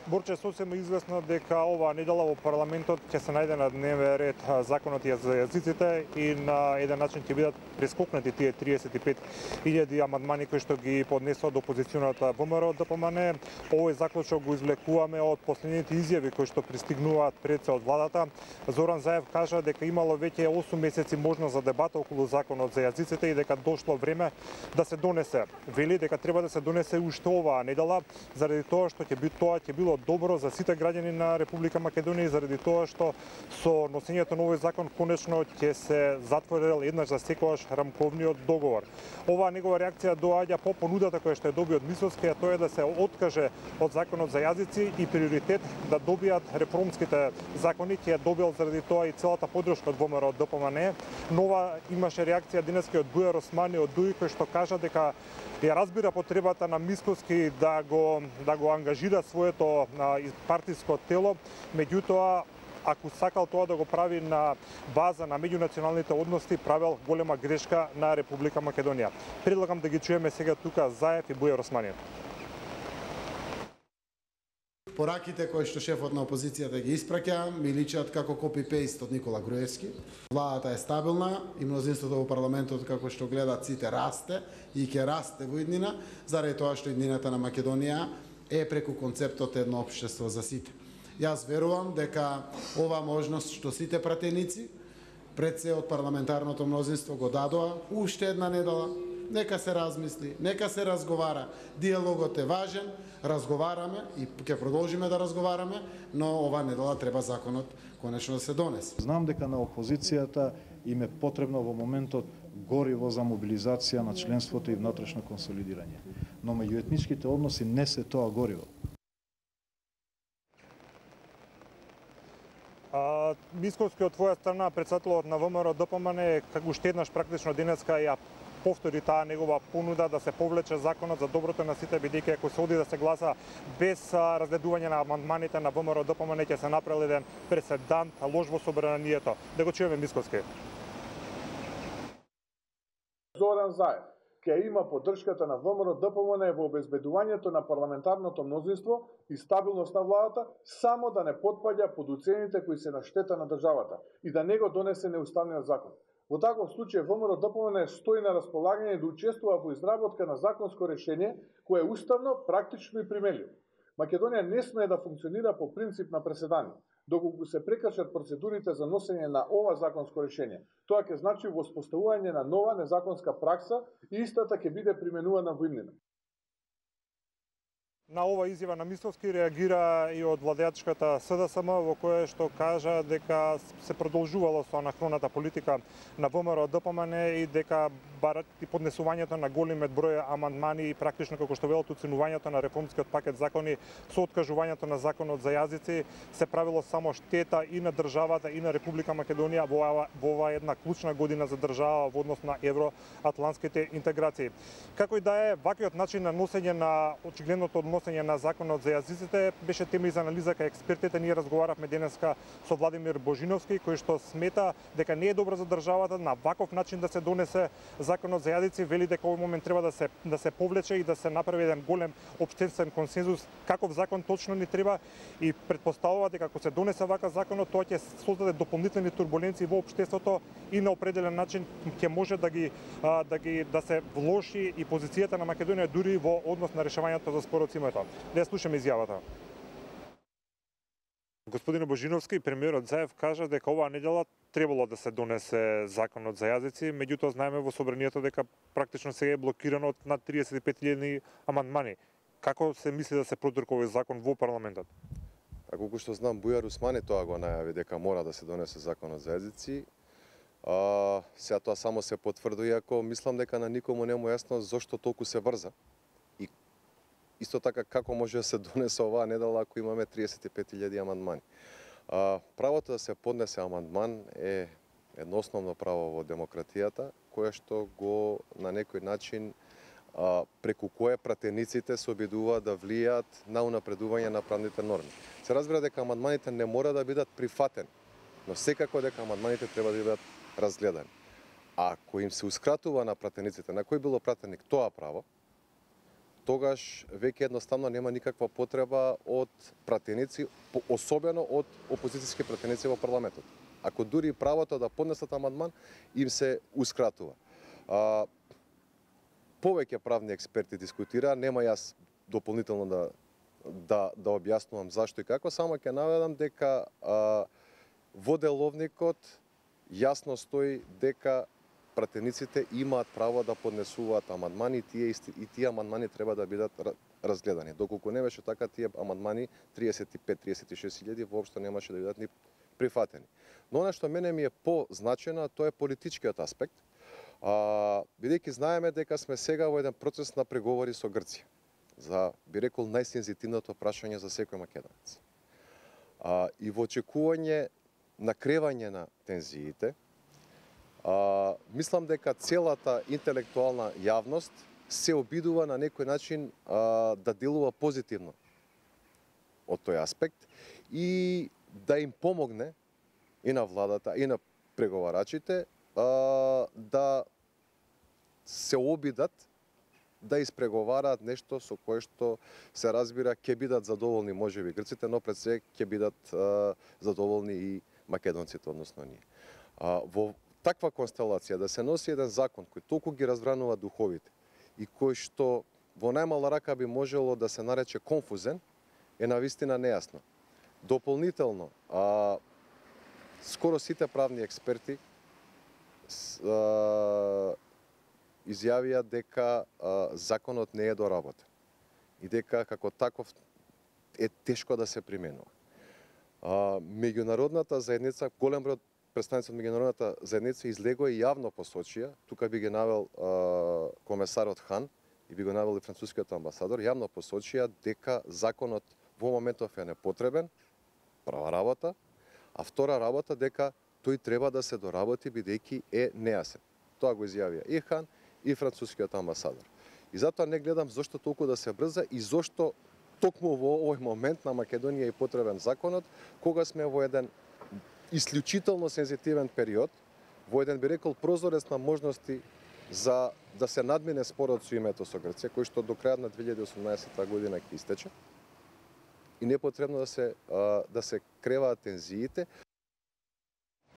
Борче, сосема известно дека оваа недела во парламентот ќе се најде на дневен ред законот за јазиците и на еден начин ќе бидат прескокнати тие 35.000 амандмани кои што ги поднесува од опозиционата ВМРО ДПМН. Овој заклучок го извлекуваме од последните изјави кои што пристигнуваат пред се од владата. Зоран Заев кажа дека имало веќе 8 месеци можност за дебата околу законот за јазиците и дека дошло време да се донесе. Вели дека треба да се донесе уште оваа недела заради тоа што ќе било добро за сите граѓани на Република Македонија и заради тоа што со носењето на овој закон конечно ќе се затворил еднаш за секогаш рамковниот договор. Оваа негова реакција доаѓа по понудата која што ја доби од Мисовски, а тоа е да се откаже од законот за јазици и приоритет да добијат реформските закони, ќе ја добил заради тоа и целата поддршка од ВМРО ДПМН. Нова имаше реакција денеска од Бујар Османи од ДУИ кој што кажа дека ја разбира потребата на Мисковски да го ангажира своето партиско тело, меѓутоа ако сакал тоа да го прави на база на меѓунационалните односи, правел голема грешка на Република Македонија. Предлагам да ги чуеме сега тука Заев и Бујар Османи. Пораките кои што шефот на опозицијата ги испраќа ми личат како копи-пейст од Никола Груевски. Владата е стабилна и мнозинството во парламентот како што гледат сите расте и ќе расте во иднина, заради тоа што иднината на Македонија е преку концептот едно општество за сите. Јас верувам дека ова можност што сите пратеници пред се од парламентарното мнозинство го дадоа уште една недела. Нека се размисли, нека се разговара. Диалогот е важен, разговараме и ќе продолжиме да разговараме, но ова недела треба законот конечно да се донесе. Знам дека на опозицијата им е потребно во моментот гориво за мобилизација на членството и внатрешно консолидирање. Но меѓуетничките односи не се тоа гориво. Мисковски од твоја страна, председателот на ВМРО ДПМН, како уште еднаш практично денеска ја повтори таа негова понуда да се повлече законот за доброто на сите, бидејќи ако се оди да се гласа без разгледување на амандманите на ВМРО ДПМН ќе се направи еден преседант, лош во собранието. Да го чуеме Мисковски. Зоран Заев ќе има поддршката на ВМРО ДПМН во обезбедувањето на парламентарното мнозинство и стабилност на владата, само да не потпаѓа под уцените кои се на штета на државата и да не го донесе неуставниот закон. Во таков случај ВМРО ДПМН стои на располагање да учествува во изработка на законско решение кое е уставно, практично и применливо. Македонија не смее да функционира по принцип на преседани, доколку се прекршат процедурите за носење на ова законско решение. Тоа ќе значи воспоставување на нова незаконска пракса и истата ќе биде применувана во иднина. На ова изјава на Мисовски реагира и од владеачката СДСМ, во која што кажа дека се продолжувало со анахроната политика на ВМРО ДПМН и дека барат и поднесувањето на големет број амандмани и практично како што велат уценувањето на реформскиот пакет закони со откажувањето на законот за јазици се правило само штета и на државата и на Република Македонија во оваа една клучна година за држава во однос на евроатлантските интеграции. Како и да е, ваквиот начин на носење на очигледното односење на законот за јазиците беше тема и за анализа кај експертите. Ние разговаравме денеска со Владимир Божиновски, кој што смета дека не е добро за државата на ваков начин да се донесе законот за јазици. Вели дека овој момент треба да се повлече и да се направи еден голем општествен консензус каков закон точно ни треба и претпоставува дека ако се донесе ваков законот, тоа ќе создаде дополнителни турбуленции во општеството и на определен начин ќе може да се влоши и позицијата на Македонија дури во однос на решавањето за спорот со името. Да ја слушаме изјавата. Господин Божиновски, премиерот Заев кажа дека оваа недела требало да се донесе законот за јазици, меѓутоа знаеме во собранието дека практично сега е блокирано од над 35.000 амандмани. Како се мисли да се продурка овој закон во парламентот? Колку што знам, Бујар Османи тоа го најави дека мора да се донесе законот за јазици. Сега тоа само се потврди, иако мислам дека на никому не му јасно зошто толку се врза. И исто така како може да се донесе оваа недела ако имаме 35.000 амандмани. Правото да се поднесе амандман е едно основно право во демократијата, кое што го на некој начин преку кое пратениците се обидуваат да влијаат на унапредување на правните норми. Се разбира дека амандманите не мора да бидат прифатени, но секако дека амандманите треба да бидат разгледани. А ако им се ускратува на пратениците, на кој било пратеник тоа право, тогаш веќе едноставно нема никаква потреба од пратеници, особено од опозицијски пратеници во парламентот. Ако дури правото да поднесат амандман, им се ускратува. Повеќе правни експерти дискутира, нема јас дополнително да објаснувам зашто и како, само ќе наведам дека во деловникот јасно стои дека пратениците имаат право да поднесуваат амандмани и тие амандмани треба да бидат разгледани. Доколку не беше така, тие амандмани 35-36 илјади воопшто немаше да бидат ни прифатени. Но она што мене ми е позначено, тоа е политичкиот аспект. Бидејќи знаеме дека сме сега во еден процес на преговори со Грција за, би рекол, најсензитивното прашање за секој македонец. И во очекување на кревање на тензиите, мислам дека целата интелектуална јавност се обидува на некој начин да делува позитивно од тој аспект и да им помогне и на владата, и на преговарачите да се обидат да испреговараат нешто со кое што се разбира ќе бидат задоволни можеби грците, но пред се ќе бидат задоволни и македонците, односно ние. Во таква констелација да се носи еден закон кој толку ги разбранува духовите и кој што во најмала рака би можело да се нарече конфузен, е навистина нејасно. Дополнително, скоро сите правни експерти изјавија дека законот не е доработен и дека како таков е тешко да се применува. Меѓународната заедница, голем број представници од меѓународната заедница излегоа и јавно посочија, тука би ги навел комесарот Хан и би го навел и францускиот амбасадор, јавно посочија дека законот во моментов е непотребен, прва работа, а втора работа дека тој треба да се доработи бидејќи е нејасен. Тоа го изјавија и Хан и францускиот амбасадор. И затоа не гледам зошто толку да се брза и зошто токму во овој момент на Македонија е потребен законот, кога сме во еден исклучително сензитивен период, во еден, би рекол, прозорец на можности за да се надмине спорот со името со Грција, кој што до крајот на 2018 година ќе истече. И не е потребно да се креваат тензиите.